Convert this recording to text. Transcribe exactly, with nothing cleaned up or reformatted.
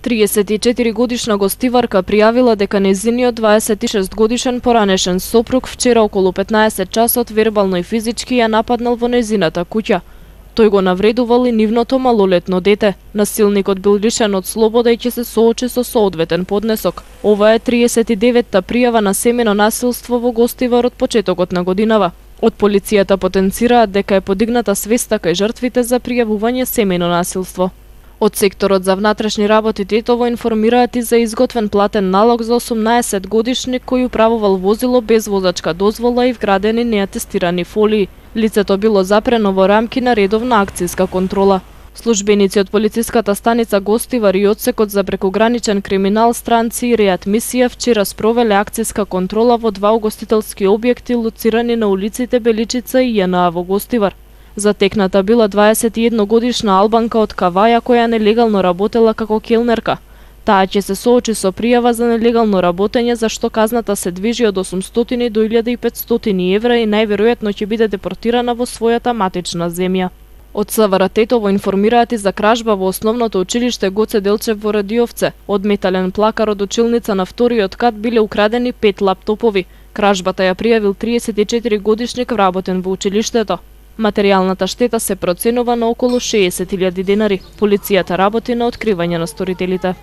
триесет и четири годишна гостиварка пријавила дека нејзиниот дваесет и шест годишен поранешен сопруг вчера околу петнаесет часот вербално и физички ја нападнал во нејзината куќа. Тој го навредувал и нивното малолетно дете. Насилникот бил лишен од слобода и ќе се соочи со соодветен поднесок. Ова е триесет и деветта пријава на семено насилство во Гостивар од почетокот на годинава. Од полицијата потенцираат дека е подигната свеста кај жртвите за пријавување семено насилство. Од секторот за внатрешни работи Тетово информираат и за изготвен платен налог за осумнаесет годишник кој управувал возило без возачка дозвола и вградени неатестирани фолии. Лицето било запрено во рамки на редовна акцијска контрола. Службеници од полициската станица Гостивар и одсекот за прекограничен криминал, странци и реадмисија вчера спровеле акцијска контрола во два угостителски објекти лоцирани на улиците Беличица и Ј Н А во Гостивар. Затекната била дваесет и една годишна албанка од Каваја која нелегално работела како келнерка. Таа ќе се соочи со пријава за нелегално работење за што казната се движи од осумстотини до илјада и петстотини евра и најверојатно ќе биде депортирана во својата матична земја. Од С В Р Тетово информираат и за кражба во основното училиште Гоце Делчев во Радиовце. Од метален плакар од училница на вториот кат биле украдени пет лаптопови. Кражбата ја пријавил триесет и четири годишник вработен во училиштето. Материјалната штета се проценува на околу шеесет илјади денари. Полицијата работи на откривање на сторителите.